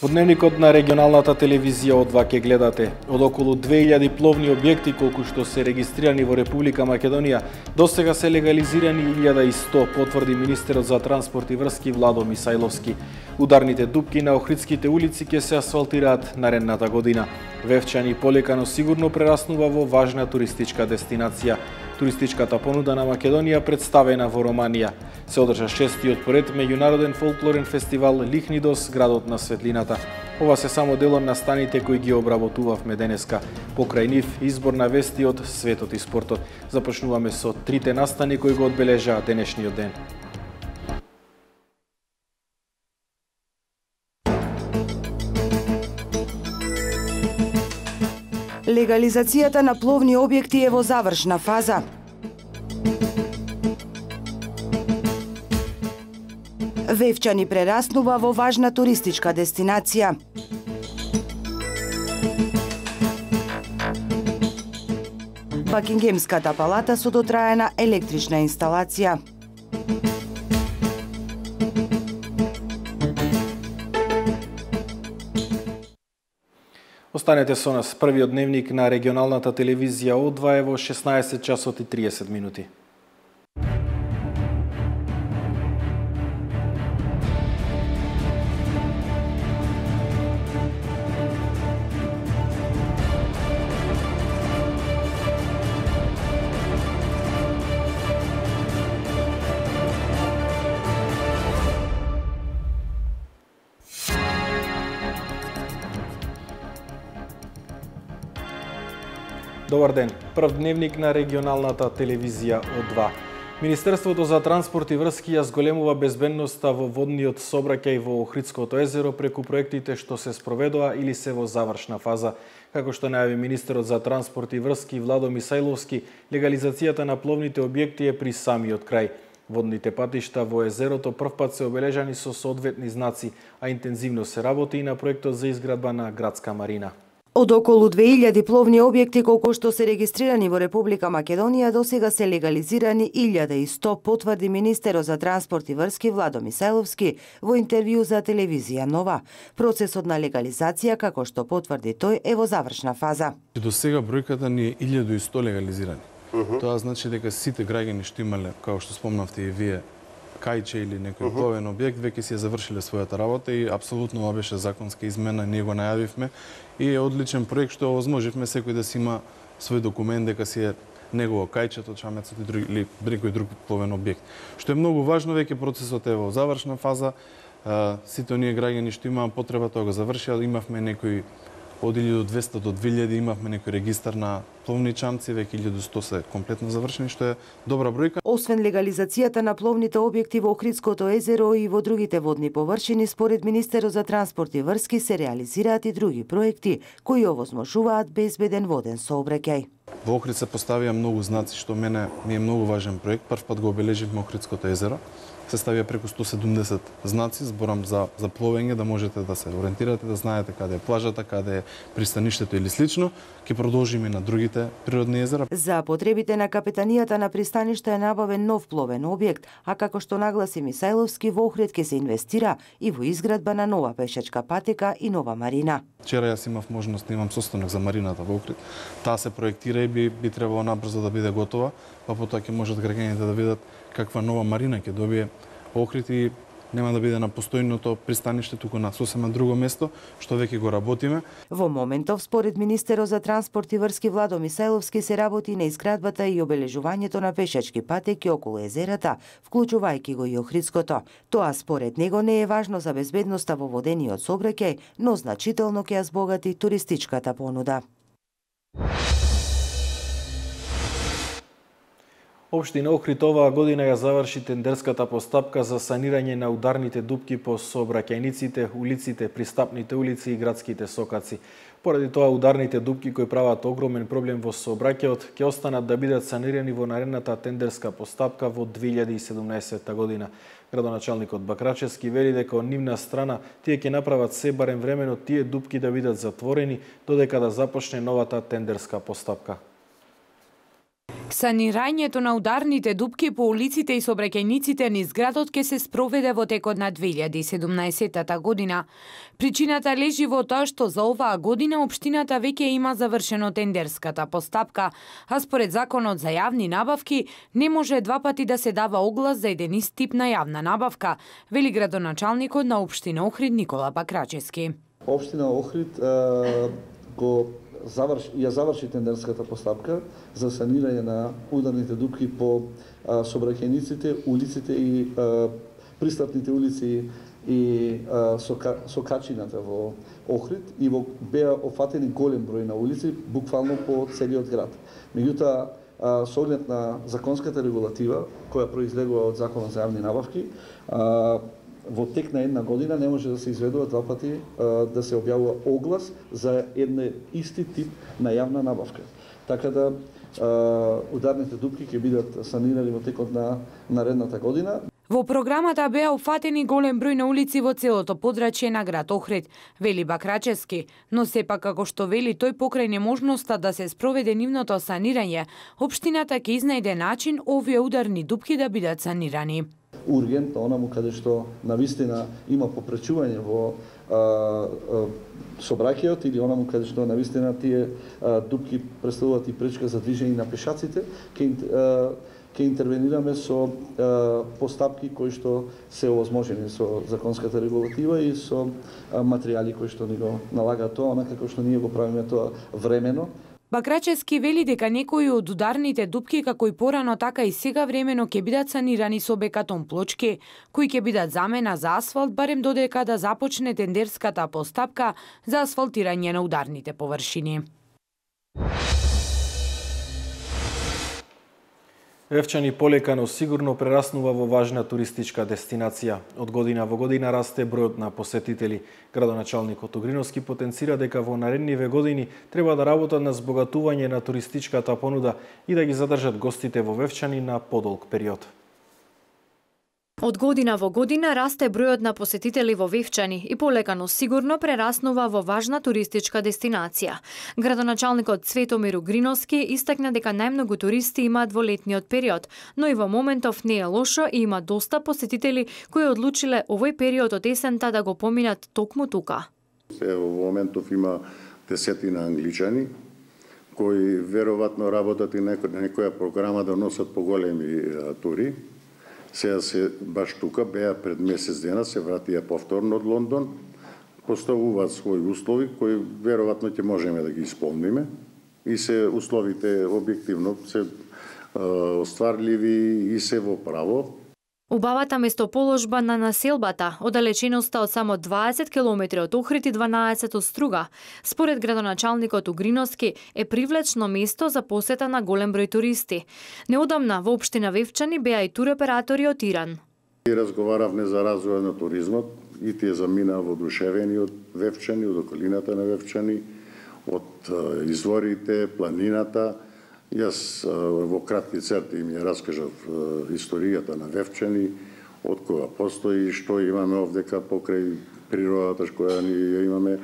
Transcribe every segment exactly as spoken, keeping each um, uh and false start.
Во дневникот на регионалната телевизија О два ќе гледате од околу две илјади пловни објекти колку што се регистрирани во Република Македонија, досега се легализирани илјада и сто, потврди министерот за транспорт и врски Владо Мисајловски. Ударните дупки на Охридските улици ќе се асфалтираат наредната година. Вевчани полека но сигурно прераснува во важна туристичка дестинација. Туристичката понуда на Македонија представена во Романија. Се одржа шестиот поред меѓународен фолклорен фестивал Лихнидос, градот на светлината. Ова се само дел од настаните кои ги обработувавме денеска. Покрај нив избор на вести од светот и спортот. Започнуваме со трите настани кои го одбележаа денешниот ден. Легализацијата на пловни објекти е во завршна фаза. Вевчани прераснува во важна туристичка дестинација. Бакингемската палата со дотраена електрична инсталација. Останете со нас. Првиот дневник на регионалната телевизија О два е во шеснаесет часот и триесет минути. Добар ден. Прв дневник на регионалната телевизија О два. Министерството за транспорт и врски ја зголемува безбедноста во водниот сообраќај во Охридското езеро преку проектите што се спроведоа или се во завршна фаза. Како што најави министерот за транспорт и врски Владо Мисајловски, легализацијата на пловните објекти е при самиот крај. Водните патишта во езерото првпат се обележани со соодветни знаци, а интензивно се работи и на проектот за изградба на градска марина. Од околу две илјади пловни објекти колку што се регистрирани во Република Македонија, досега се легализирани илјада и сто, потврди министерот за транспорт и врски Владо Мисајловски во интервју за телевизија Нова. Процесот на легализација, како што потврди тој, е во завршна фаза. Досега бројката ни е илјада и сто легализирани. Uh -huh. Тоа значи дека сите граѓани што имале, како што спомнавте и вие, кајче или некој uh -huh. пловен објект, веќе си ја завршиле својата работа и апсолутно ова беше законска измена, ние го најавивме и е одличен проект што овозможивме секој да си има свој документ дека си е негово кајчето, чамецот и други, или некој друг пловен објект. Што е многу важно, веќе процесот е во завршна фаза. Сите оние граѓани што имаа потреба тоа го завршија, имавме некои од илјада и двесте до две илјади, имавме некој регистар на пловни чамци, веќе илјада и сто се комплетно завршени, што е добра бројка. Освен легализацијата на пловните објекти во Охридското езеро и во другите водни површини, според министерот за транспорт и врски се реализираат и други проекти кои овозможуваат безбеден воден сообраќај. Во Охрид се поставија многу знаци, што мене ми е многу важен проект. Првпат го обележивме Охридското езеро. Се ставија преку сто седумдесет знаци, зборам за, за пловење, да можете да се ориентирате, да знаете каде е плажата, каде е пристаништето или слично. Ќе продолжиме на другите природни езера. За потребите на капетанијата на пристаништа е набавен нов пловен објект, а како што нагласи Мисајловски, во Охрид ќе се инвестира и во изградба на нова пешачка патека и нова марина. Вчера јас имав можност да имам состанок за марината во Охрид. Таа се проектира и би, би требало набрзо да биде готова, па потоа ќе можат граѓаните да видат каква нова марина ќе добие Охрид и нема да биде на постојното пристаниште, туку на сосема друго место, што веќе го работиме. Во моментов, според министерот за транспорт и врски Владо Мисајловски, се работи на изградбата и обележувањето на пешачки патеки околу езерата, вклучувајќи го и Охридското. Тоа според него не е важно за безбедноста во водениот сообраќај, но значително ќе ја збогати туристичката понуда. Општина Охрид оваа година ја заврши тендерската постапка за санирање на ударните дупки по сообраќајниците, улиците, пристапните улици и градските сокаци. Поради тоа ударните дупки кои прават огромен проблем во сообраќајот ќе останат да бидат санирани во наредната тендерска постапка во две илјади и седумнаесетта година. Градоначалникот Бакрачевски вели дека од нивна страна тие ќе направат се барем времено тие дупки да бидат затворени додека да започне новата тендерска постапка. Санирањето на ударните дупки по улиците и сообраќајниците низ градот ќе се спроведе во текот на две илјади и седумнаесетта година. Причината лежи во тоа што за оваа година општината веќе има завршено тендерската постапка, а според законот за јавни набавки не може два пати да се дава оглас за еден ист тип на јавна набавка, вели градоначалникот на општина Охрид Никола Бакрачевски. Општина Охрид е, го заврши, ја заврши тендерската постапка за санирање на ударните дупки по а, сообраќајниците, улиците и а, пристапните улици и а, сока, сокачината во Охрид и во беа офатени голем број на улици, буквално по целиот град. Меѓутоа, со оглед на законската регулатива, која произлегува од Законот за јавни набавки, а, во тек на една година не може да се изведува два пати а, да се објавува оглас за еден исти тип на јавна набавка. Така да а, ударните дупки ќе бидат санирани во текот на наредната година. Во програмата беа опфатени голем број на улици во целото подрачје на град Охрид, вели Бакрачевски, но сепак како што вели тој покрај неможноста да се спроведе нивното санирање, општината ќе изнајде начин овие ударни дупки да бидат санирани. Ургентно, онаму каде што навистина има попречување во а, а, сообраќајот или онаму каде што навистина тие а, дупки представуваат и пречка за движење на пешаците, ќе ќе интервенираме со а, постапки кои што се овозможени со законската регулатива и со а, материјали кои што ни го налагаат тоа, онака како што ние го правиме тоа времено. Бакрачевски вели дека некои од ударните дупки како и порано така и сега времено ќе бидат санирани со бекатон плочки, кои ќе бидат замена за асфалт барем додека да започне тендерската постапка за асфалтирање на ударните површини. Вевчани полека, но сигурно прераснува во важна туристичка дестинација. Од година во година расте бројот на посетители. Градоначалникот Огриновски потенцира дека во наредниве години треба да работат на збогатување на туристичката понуда и да ги задржат гостите во Вевчани на подолг период. Од година во година расте бројот на посетители во Вевчани и полека но сигурно прераснува во важна туристичка дестинација. Градоначалникот Цветомир Огриновски истакна дека најмногу туристи имаат во летниот период, но и во моментов не е лошо и има доста посетители кои одлучиле овој период од есента да го поминат токму тука. Во моментов има десетина англичани кои веројатно работат и некоја програма да носат поголеми тури. Сега се баш тука, беа пред месец дена, се вратија повторно од Лондон, поставуваат своји услови кои веројатно ќе можеме да ги исполниме и се условите објективно се остварливи и се во право. Убавата местоположба на населбата, оддалеченоста од само дваесет километри од Охрид и дванаесет од Струга, според градоначалникот Огриновски, е привлечно место за посета на голем број туристи. Неодамна во општина Вевчани беа и туроператори од Иран. И разговаравме за развој на туризмот и тие замина воодушевени од Вевчани, од околината на Вевчани, од изворите, планината. Јас во кратки црти им ја раскажав историјата на Вевчани, од кога постои, што имаме овдека покрај природата која ни ја имаме,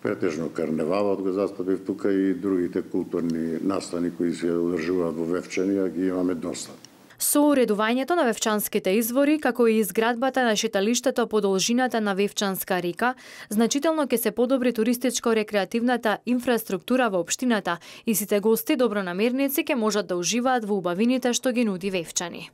претежно карневалот го застапив тука и другите културни настани кои се одржуваат во Вевчани, а ги имаме доста. Со уредувањето на Вевчанските извори, како и изградбата на шеталиштето по должината на Вевчанска река, значително ќе се подобри туристичко-рекреативната инфраструктура во општината и сите гости добронамерници ќе можат да уживаат во убавините што ги нуди Вевчани.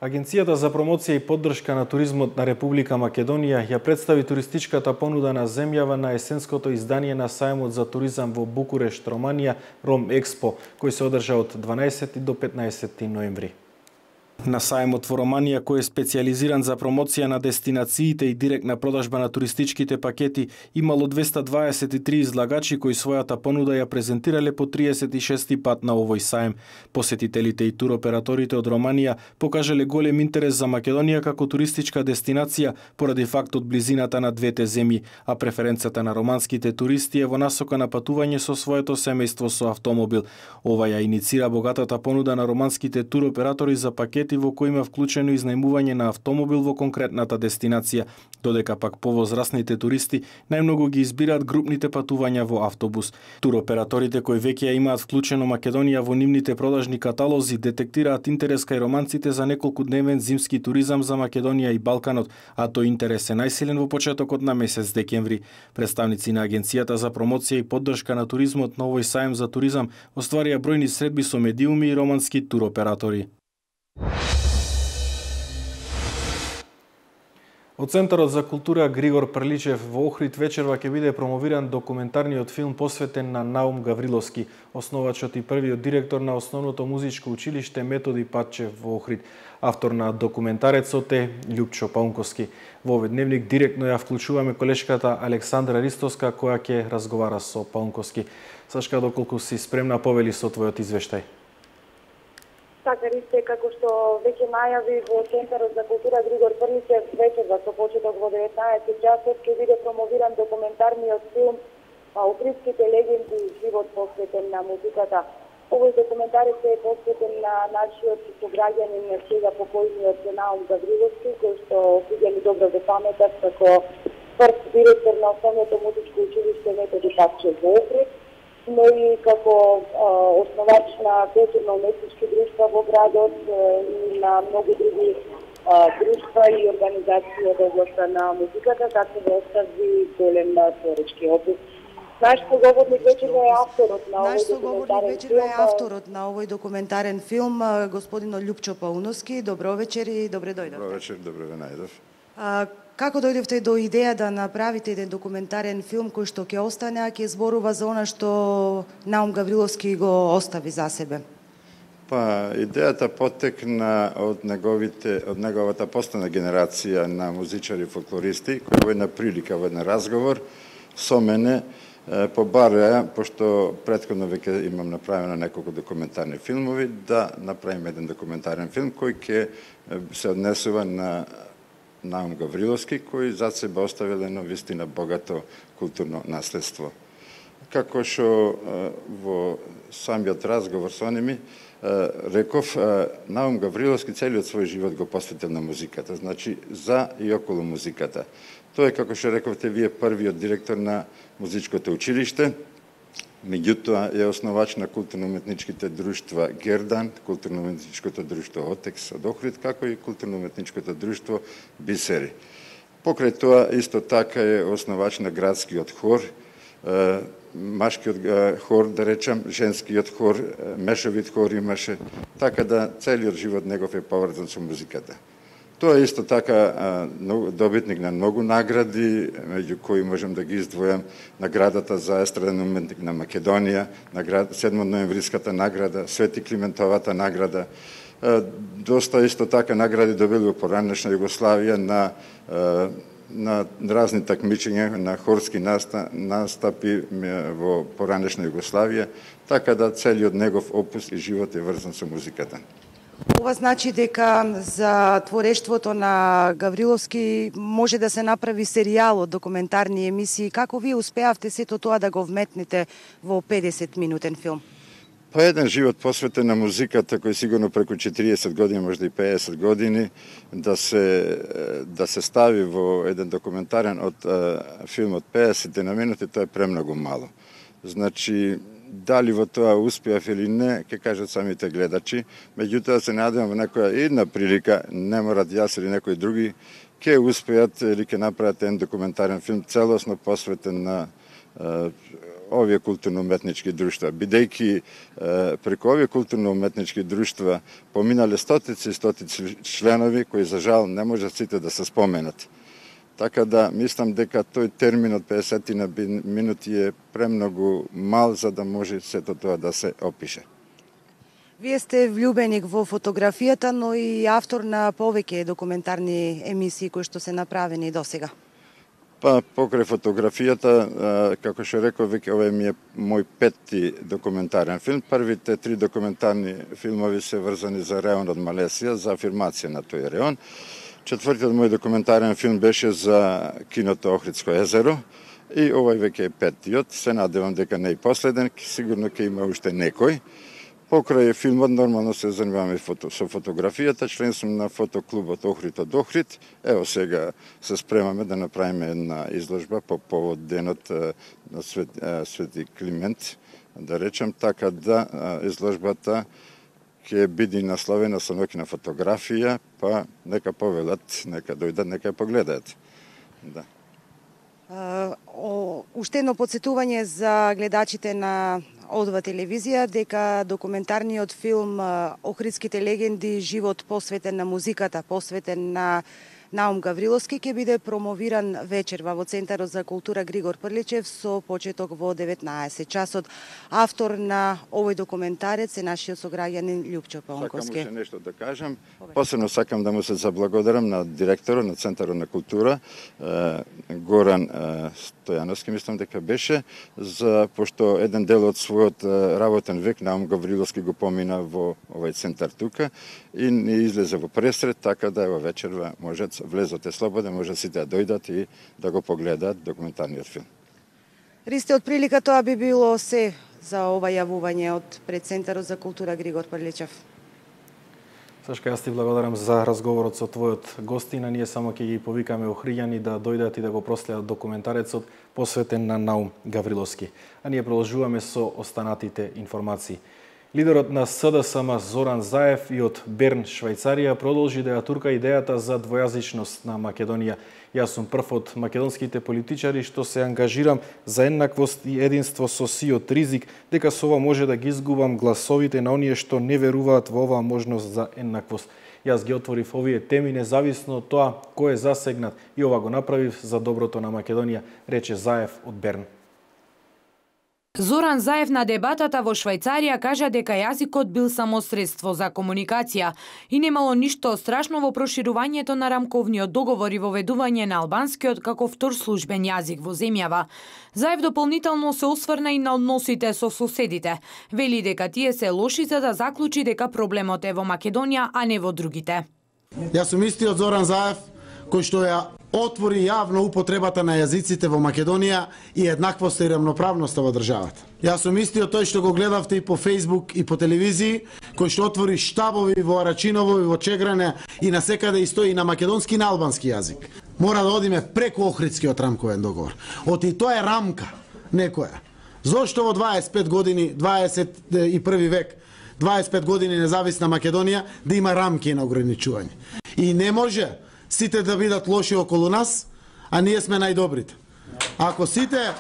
Агенцијата за промоција и поддршка на туризмот на Република Македонија ја представи туристичката понуда на земјава на есенското издание на сајмот за туризам во Букурешт, Романија, Ром Експо, кој се одржа од дванаесети до петнаесети ноември. На сајмот во Романија, кој е специјализиран за промоција на дестинациите и директна продажба на туристичките пакети, имало двеста дваесет и три излагачи кои својата понуда ја презентирале по триесет и шести пат на овој сајм. Посетителите и туроператорите од Романија покажале голем интерес за Македонија како туристичка дестинација поради фактот близината на двете земји, а преференцата на романските туристи е во насока на патување со своето семејство со автомобил. Ова ја иницира богатата понуда на романските туроператори за пакети патеки во кои има вклучено изнајмување на автомобил во конкретната дестинација, додека пак повозрасните туристи најмногу ги избираат групните патувања во автобус. Туроператорите кои веќе ја имаат вклучено Македонија во нивните продажни каталози детектираат интерес кај романците за неколкудневен зимски туризам за Македонија и Балканот, а тој интерес е најсилен во почетокот на месец декември. Представници на Агенцијата за промоција и поддршка на туризмот на овој сајм за туризам остварија бројни средби со медиуми и романски туроператори. Од Центарот за култура Григор Прличев во Охрид вечерва ќе биде промовиран документарниот филм посветен на Наум Гавриловски, основачот и првиот директор на основното музичко училиште Методи Патчев во Охрид. Автор на документарецот е Љупчо Паунковски. Во овој дневник директно ја вклучуваме колешката Александра Ристоска, која ќе разговара со Паунковски. Сашка, доколку си спремна, повели со твојот извештај. Така, Ристе, како што веќе најави во Центарот за култура Григор Прличев, вечерва со почеток во деветнаесет часот ќе биде промовиран документарниот филм Охридските легенди и живот посветен на музиката. Овој документарец е посветен на нашиот сограѓанин на сега покојниот Наум Гавриловски, кој што сите ни добро го паметат како прв директор на основното музичко училиште Методи Патчев во Охрид, но и како а, основач на културно-уметнички друштва во градот и на многу други а, друштва и организации од областта на музиката, како да остави голем творечки опит. Наш соговорник вечерва е авторот на овој документарен филм. е авторот на овој документарен филм, господино Љупчо Пауновски. Добро вечер и добре дојдовте. Добро вечер, добре ве најдов. А, како дојдовте до идеја да направите еден документарен филм кој што ќе остане, а ќе зборува за она што Наум Гавриловски го остави за себе? Па, идејата потекна од неговите, од неговата постана генерација на музичари и фолклористи, кои во една прилика, во еден разговор со мене побареа, пошто претходно веќе имам направено неколку документарни филмови, да направиме еден документарен филм кој ќе се однесува на Наум Гавриловски, кој зад себе оставил едно вистина богато културно наследство. Како што во самиот разговор со ними реков, Наум Гавриловски целиот свој живот го посветил на музиката, значи за и околу музиката. Тој е, како што рековте вие, првиот директор на музичкото училиште, меѓутоа е основач на културно-уметничките друштва Гердан, културно-уметничкото друштво Отекс од Охрид, како и културно-уметничкото друштво Бисери. Покрај тоа, исто така е основач на градскиот хор, машкиот хор, да речам, женскиот хор, мешовит хор имаше, така да целиот живот негов е поврзан со музиката. Тоа е исто така добитник на многу награди, меѓу кои можем да ги издвојам наградата за естраден уметник на Македонија, седмоноемвриската награда, Свети Климентовата награда. Доста исто така награди добили во поранешна Југославија на на разни такмичења, на хорски настапи во поранешна Југославија, така да целиот негов опус и живот е врзан со музиката. Ова значи дека за творештвото на Гавриловски може да се направи серијал од документарни емисии. Како вие успеавте сето тоа да го вметнете во педесет минутен филм? Па еден живот посветен на музиката, кој сигурно преку четириесет години, можда и пеесет години, да се да се стави во еден документарен од филм од пеесет на минути, тоа е премногу мало. Значи, дали во тоа успеав или не, ќе кажат самите гледачи, меѓутоа се надевам во некоја една прилика, не морат јас или некои други, ќе успеат или ќе направат еден документарен филм целосно посветен на е, овие културно-уметнички друштва. Бидејќи преку овие културно-уметнички друштва поминале стотици и стотици членови, кои за жал не можат сите да се споменат. Така да мислам дека тој термин од пеесет на минути е премногу мал за да може сето тоа да се опише. Вие сте влюбеник во фотографијата, но и автор на повеќе документарни емисии кои што се направени досега. Па покрај фотографијата, како што реков, веќе ова ми е мој петти документарен филм. Првите три документарни филмови се врзани за реон од Малесија, за афирмација на тој реон. Четвртиот мој документарен филм беше за киното Охридско езеро и овој веќе е петтиот. Се надевам дека не е последен, сигурно ќе има уште некој. Покрај филмот нормално се занимаваме фото, со фотографијата, член сум на фотоклубот Охрид од Охрид. Ево сега се спремаме да направиме една изложба по повод денот на Свет, Свети Климент, да речем, така да изложбата ќе биде насловена со ноќна фотографија, па нека повелат, нека дојдат, нека погледаат. Да. Uh, о, уште едно подсетување за гледачите на Одва телевизија дека документарниот филм Охридските легенди, живот посветен на музиката, посветен на Наум Гавриловски, ќе биде промовиран вечерва во Центарот за култура Григор Прличев со почеток во деветнаесет часот. Автор на овој документарец е нашиот сограѓанин Љупчо Паунковски. Сакам уште нешто да кажам. Посебно сакам да му се заблагодарам на директорот на Центарот на култура, Горан Стојановски, мислам дека беше, за пошто еден дел од својот работен век Наум Гавриловски го помина во овој центар тука и не излезе во пресред, така да ево вечерва можат влезот е слободен, може сите да дојдат и да го погледаат документарниот филм. Ристе, од прилика тоа би било се за ова јавување од пред Центарот за култура Григор Прличев. Сашка, јас ти благодарам за разговорот со твојот гостина. Ние само ќе ги повикаме охриѓани да дојдат и да го проследат документарецот посветен на Наум Гавриловски. А ние продолжуваме со останатите информации. Лидерот на С Д С М Зоран Заев и од Берн, Швајцарија, продолжи да ја турка идејата за двојазичност на Македонија. Јас сум прв од македонските политичари што се ангажирам за еднаквост и единство со сиот ризик, дека со ова може да ги изгубам гласовите на оние што не веруваат во оваа можност за еднаквост. Јас ги отворив овие теми независно од тоа кој е засегнат и ова го направив за доброто на Македонија, рече Заев од Берн. Зоран Заев на дебатата во Швајцарија кажа дека јазикот бил само средство за комуникација и немало ништо страшно во проширувањето на рамковниот договор и воведување на албанскиот како втор службен јазик во земјава. Заев дополнително се осврна и на односите со соседите. Вели дека тие се лоши за да заклучи дека проблемот е во Македонија, а не во другите. Јас сум истиот Зоран Заев кој што ја отвори јавно употребата на јазиците во Македонија и еднаквоста и рамноправноста во државата. Јас сум истиот тој што го гледавте и по Фејсбук и по телевизии, кој што отвори штабови во Арачиново и во Чегране и насекаде и стои на македонски и на албански јазик. Мора да одиме преку Охридскиот рамковен договор. Оти тоа е рамка некоја. Зошто во дваесет и пет години, дваесет и први век, дваесет и пет години независна Македонија да има рамки на ограничување. И не може сите да бидат лоши околу нас, а ние сме најдобрите. Ако сите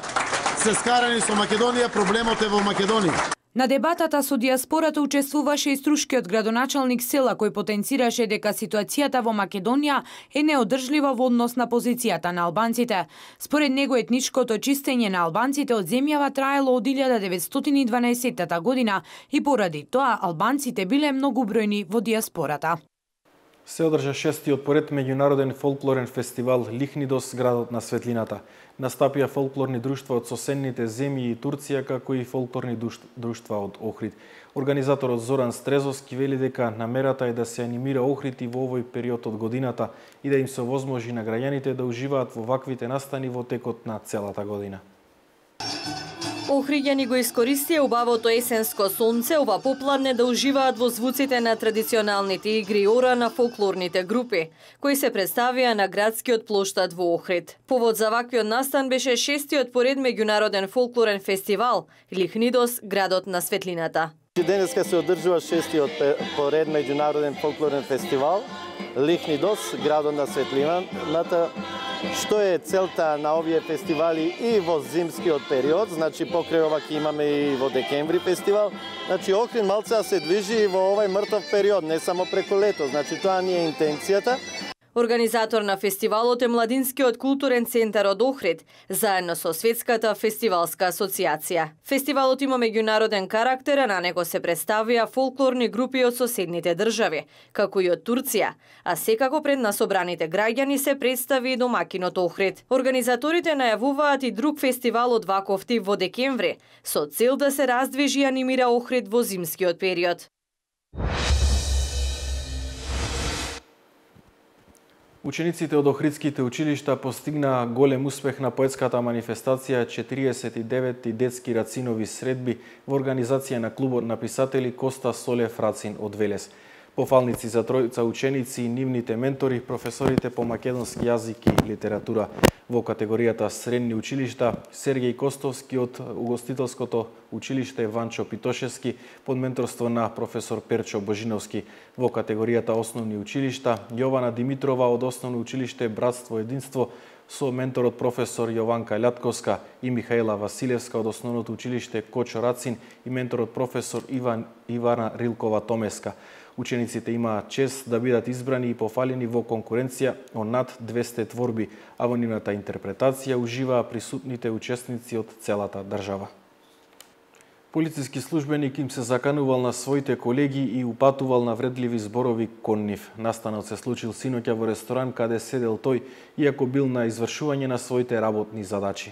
се скарани со Македонија, проблемот е во Македонија. На дебатата со диаспората учествуваше и струшкиот градоначалник Села, кој потенцираше дека ситуацијата во Македонија е неодржлива во однос на позицијата на албанците. Според него етничкото чистење на албанците од земјава траело од илјада деветстотини и дванаесетта година и поради тоа албанците биле многубројни во диаспората. Се одржа шестиот поред меѓународен фолклорен фестивал Лихнидос, градот на светлината. Настапија фолклорни друштва од соседните земји и Турција, како и фолклорни друштва од Охрид. Организаторот Зоран Стрезовски вели дека намерата е да се анимира Охрид и во овој период од годината и да им се овозможи на граѓаните да уживаат во ваквите настани во текот на целата година. Охриѓани го искористија убавото есенско сонце ова попладне да уживаат во звуците на традиционалните игри и ора на фолклорните групи, кои се представија на градскиот плоштад во Охрид. Повод за ваквиот настан беше шестиот поред меѓународен фолклорен фестивал Лихнидос, градот на светлината. Денеска се одржува шестиот поред меѓународен фолклорен фестивал Лихнидос, градот на светлината. Што е целта на овие фестивали и во зимскиот период, значи покрај ова ќе имаме и во декември фестивал. Значи Охрид малце се движи во овај мртов период, не само преку лето, значи тоа не е интенцијата. Организатор на фестивалот е Младинскиот културен центар од Охрид, заедно со Светската фестивалска асоциација. Фестивалот има меѓународен карактер, а на него се представија фолклорни групи од соседните држави, како и од Турција, а секако пред насобраните граѓани се представи и домакинот Охрид. Организаторите најавуваат и друг фестивал од ваков тип во декември, со цел да се раздвижи и анимира Охрид во зимскиот период. Учениците од Охридските училишта постигнаа голем успех на поетската манифестација четириесет и деветти детски рацинови средби во организација на клубот на писатели Коста Солев Рацин од Велес. Пофалници за тројца ученици и нивните ментори, професорите по македонски јазик и литература во категоријата средни училишта Сергеј Костовски од угостителското училиште Ванчо Питошевски под менторство на професор Перчо Божиновски, во категоријата основни училишта Јована Димитрова од основно училиште Братство Единство со менторот професор Јованка Лјатковска и Михаела Василевска од основното училиште Кочо Рацин и менторот професор Иван Ивана Рилкова Томеска. Учениците имаат чест да бидат избрани и пофалени во конкуренција од над двесте творби, а во нивната интерпретација уживаа присутните учесници од целата држава. Полициски службеник им се заканувал на своите колеги и упатувал навредливи зборови кон нив. Настанот се случил синоќа во ресторан каде седел тој, иако бил на извршување на своите работни задачи.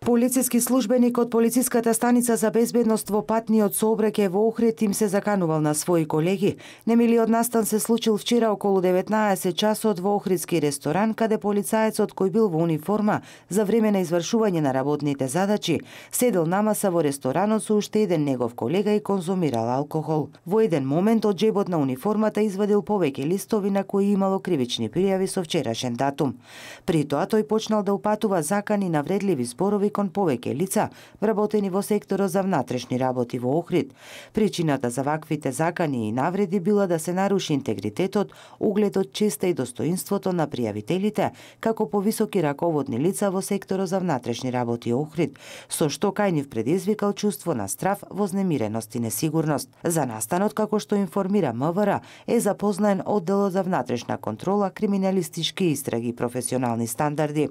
Полициски службеник од полициската станица за безбедност во патниот сообраќај во Охрид им се заканувал на своји колеги. Немилиот настан се случил вчера околу деветнаесет часот во Охридски ресторан, каде полицаецот кој бил во униформа за време на извршување на работните задачи седел на маса во ресторанот со уште еден негов колега и конзумирал алкохол. Во еден момент од џебот на униформата извадил повеќе листови на кои имало кривични пријави со вчерашен датум. При тоа тој почнал да упатува закани и навредливи зборови кон повеќе лица, вработени во секторот за внатрешни работи во Охрид. Причината за ваквите закани и навреди била да се наруши интегритетот, угледот, честа и достоинството на пријавителите, како повисоки раководни лица во секторот за внатрешни работи Охрид, со што кај нив предизвикал чувство на страв, вознемиреност и несигурност. За настанот, како што информира МВР, е запознаен одделот за внатрешна контрола, криминалистички истраги и професионални стандарди.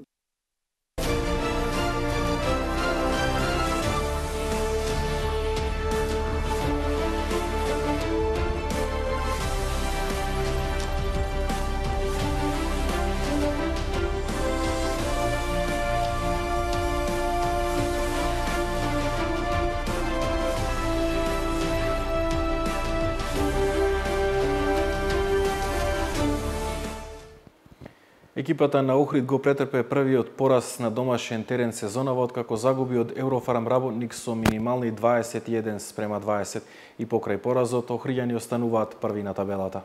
Екипата на Охрид го претрпе првиот пораз на домашен терен сезонава откако загуби од Еврофарм работник со минимални дваесет и еден спрема дваесет и покрај поразот охриѓани остануваат први на табелата.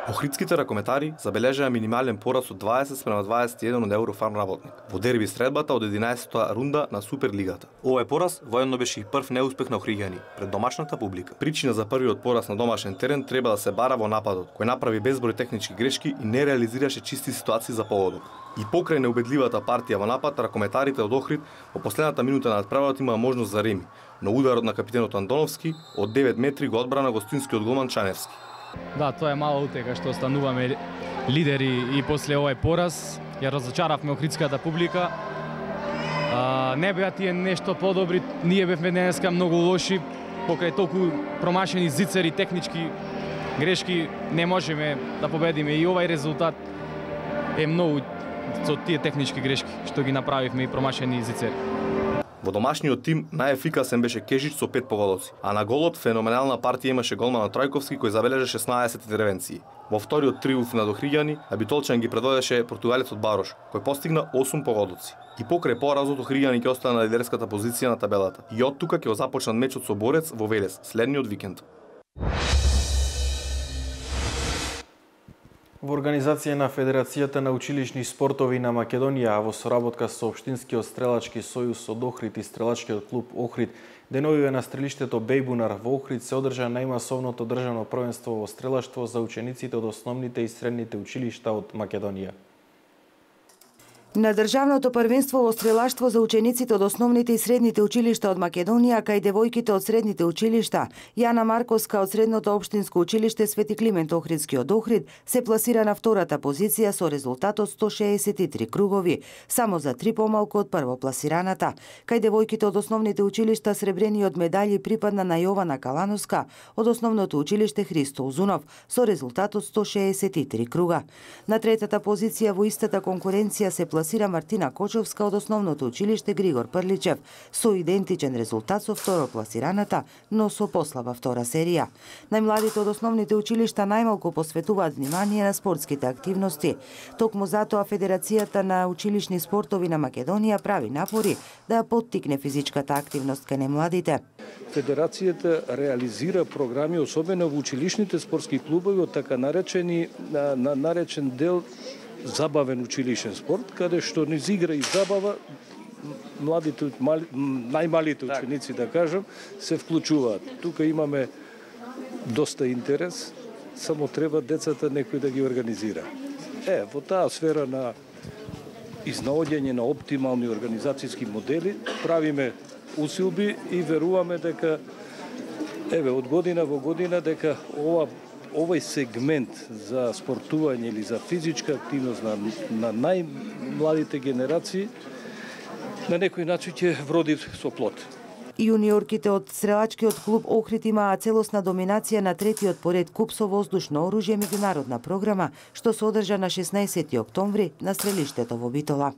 Охридските ракометари забележаа минимален пораз од дваесет спрема дваесет и еден од Еврофарм работник во дерби средбата од единаесеттата рунда на Суперлигата. Овој пораз воедно беше и прв неуспех на охриѓани пред домашната публика. Причина за првиот пораз на домашен терен треба да се бара во нападот, кој направи безброј технички грешки и не реализираше чисти ситуации за погодок. И покрај неубедливата партија во напад, ракометарите од Охрид во последната минута на надправата имаа можност за реми, но ударот на капитенот Антоновски од девет метри го одбрана гостинскиот голман Чаневски. Да, тоа е мала утега што остануваме лидери и после овој пораз. Ја разочаравме охридската публика. А, не беа тие нешто подобри, ние бевме денеска многу лоши, покрај толку промашени зицери, технички грешки, не можеме да победиме и овај резултат е многу со тие технички грешки што ги направивме и промашени зицери. Во домашниот тим најефикасен беше Кежич со пет погодоци, а на голот феноменална партија имаше голманот Трајковски кој забележа шеснаесет интервенции. Во вториот триумф на охриѓани, Абитолчан ги предводеше португалецот Барош, кој постигна осум погодоци. И покрај поразот охриѓани ќе остана на лидерската позиција на табелата. И од тука ќе го започнат мечот со Борец во Велес следниот викенд. Во организација на Федерацијата на училишни спортови на Македонија, а во соработка со Општинскиот стрелачки сојуз од Охрид и стрелачкиот клуб Охрид, деновиве на стрелиштето Бејбунар во Охрид се одржа најмасовното државно првенство во стрелаштво за учениците од основните и средните училишта од Македонија. На државното првенство во стрелаштво за учениците од основните и средните училишта од Македонија, кај девојките од средните училишта, Јана Марковска од средното општинско училиште Свети Климент Охридски од Охрид се пласира на втората позиција со резултатот сто шеесет и три кругови, само за три помалку од првопласираната. Кај девојките од основните училишта сребрениот медаљи припадна на Јована Калановска од основното училиште Христо Узунов со резултатот сто шеесет и три круга. На третата позиција во истата конкуренција се пласира класира Мартина Кочовска од основното училиште Григор Прличев со идентичен резултат со второкласираната, но со послаба втора серија. Најмладите од основните училишта најмалку посветуваат внимание на спортските активности. Токму затоа Федерацијата на училишни спортови на Македонија прави напори да поттикне физичката активност кај најмладите. Федерацијата реализира програми, особено во училишните спортски клубови, од така наречени на, на наречен дел забавен училишен спорт, каде што низ игра и забава младите, мали, најмалите ученици, да кажам, се вклучуваат. Тука имаме доста интерес, само треба децата некој да ги организира. Е, во таа сфера на изнаоѓање на оптимални организацијски модели, правиме усилби и веруваме дека еве од година во година дека ова овој сегмент за спортување или за физичка активност на, на најмладите генерации на некој начин ќе вроди со плод. Јуниорките од стрелачкиот клуб Охрид имаа целосна доминација на третиот поред куп со воздушно оружје меѓународна програма, што се одржа на шеснаесети октомври на стрелиштето во Битола.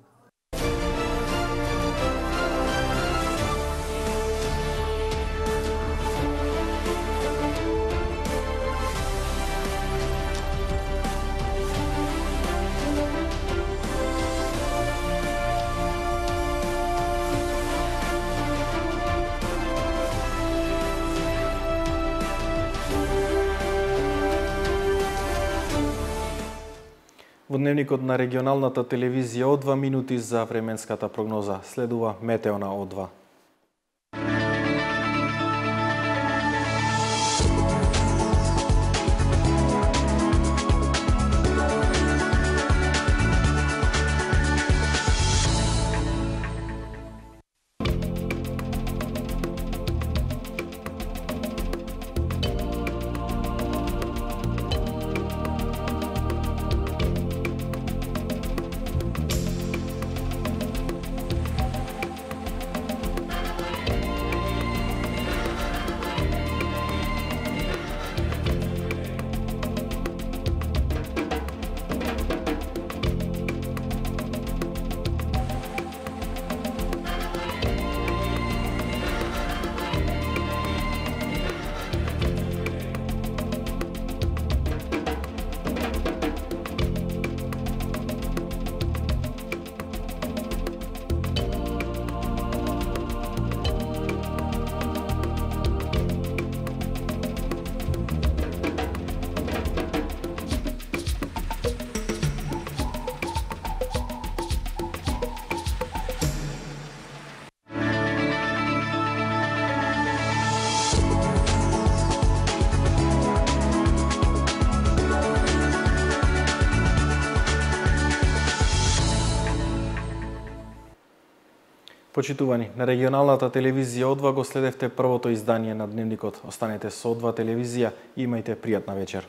Во дневникот на регионалната телевизија О два минути за временската прогноза. Следува метео на О два. Почитувани, на регионалната телевизија О два го следевте првото издание на дневникот. Останете со О два телевизија и имајте пријатна вечер.